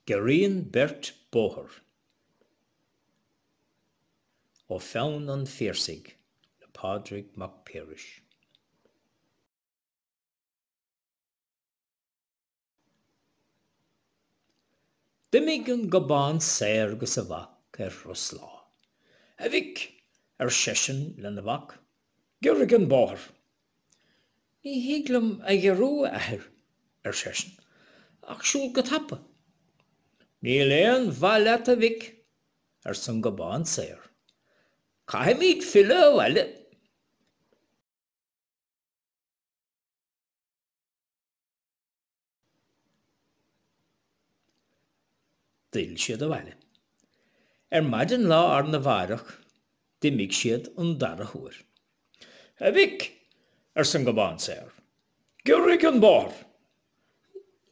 Giorraíonn beirt bóthar. Ó pheann an Phiarsaigh le Pádraig Mac Piarais. D'imigh an Gobán Saor agus a mhac ar thuras lá. A mhic, ar seisean lena mhac, giorraigh an bóthar. Ní thig liom a ghiorrú, a athair, ar seisean, ach siúl go tapa. Níl aon mhaith leat, a mhic, arsa an Gobán Saor. Caithfimid filleadh abhaile. D'fhill siad abhaile. Ar maidin lá arna mháireach d'imigh siad an dara huair. A mhic, arsa an Gobán Saor, giorraigh an bóthar.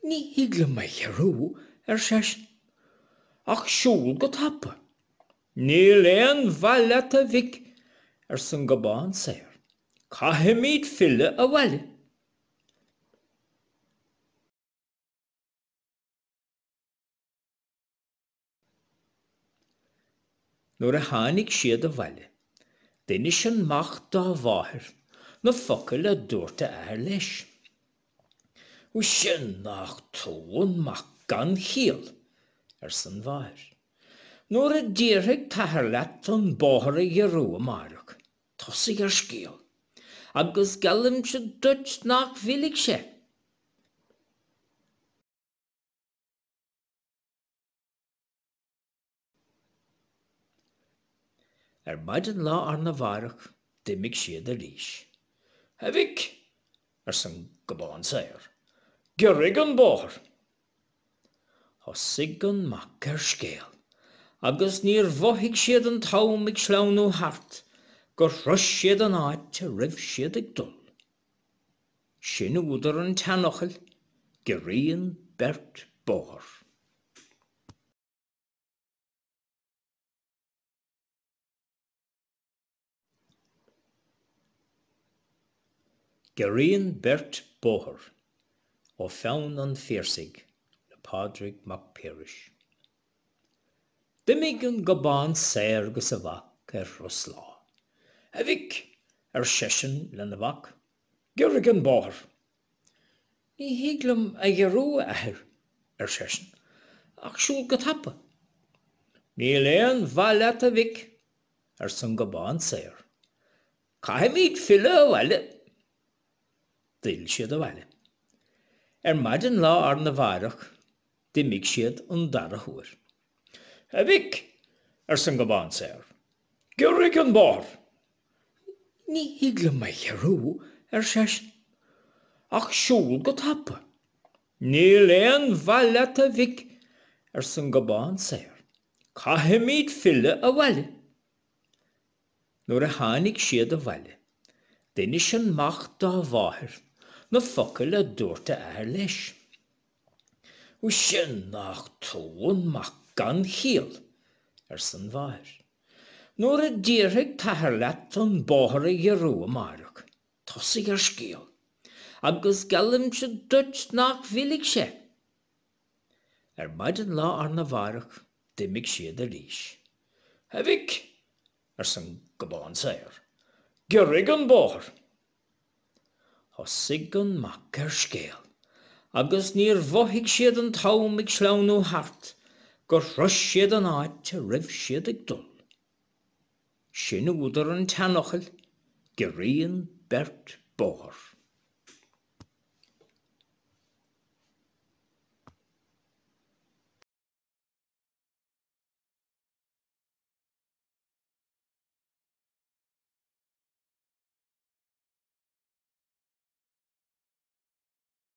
Ní thig liom a ghiorrú, ar seisean, ach siúl go tapa. Níl aon mhaith leat, a mhic, arsa an Gobán Saor, caithfimid filleadh abhaile. Nuair a tháinig siad abhaile, d'inis an mac dá mháthair na focail a dúirt a athair leis. Sin nach tú an mac gan chiall, arsa an mháthair. Nuair a déarfaidh t'athair leat an bóthar a ghiorrú amáireach, tosaigh ar scéal, agus geallaimse duit nach bhfillfidh sé. Ar maidin lá arna mháireach d'imigh siad arís. A mhic, arsa an Gobán Saor, giorraigh an bóthar. Thosaigh an mac ar scéal, agus níor mhothaigh siad an t-am ag sleamhnú thart gur shrois siad an áit a raibh siad ag dul. Sin údar an tseanfhocail, giorraíonn beirt bóthar. Giorraíonn beirt bóthar. Ó pheann an Phiarsaigh le Pádraig Mac Piarais. D'imigh an Gobán Saor agus a mhac ar thuras lá. A mhic, ar seisean lena mhac, giorraigh an bóthar. Ní thig liom a ghiorrú, a athair, ar seisean, ach siúl go tapa. Níl aon mhaith leat, a mhic, arsa an Gobán Saor. Caithfimid filleadh abhaile. D'fhill siad abhaile. Ar maidin lá arna mháireach d'imigh siad an dara huair. A mhic, arsa an Gobán Saor, giorraigh an bóthar. Ní thig liom a ghiorrú, ar seisean, ach siúl go tapa. Níl aon mhaith leat, a mhic, arsa an Gobán Saor, caithfimid filleadh abhaile. Nuair a tháinig siad abhaile, d'inis an mac dá mháthair na focail a dúirt a athair leis. Sin nach tú an mac gan chiall, arsa an mháthair. Nuair a déarfaidh t'athair leat an bóthar a ghiorrú amáireach, tosaigh ar scéal, agus geallaimse duit nach bhfillfidh sé. Ar maidin lá arna mháireach d'imigh siad arís. A mhic, arsa an Gobán Saor, giorraigh an bóthar. Thosaigh an mac ar scéal, agus níor mhothaigh siad an t-am ag sleamhnú thart gur shrois siad an áit a raibh siad ag dul. Sin údar an tseanfhocail, giorraíonn beirt bóthar.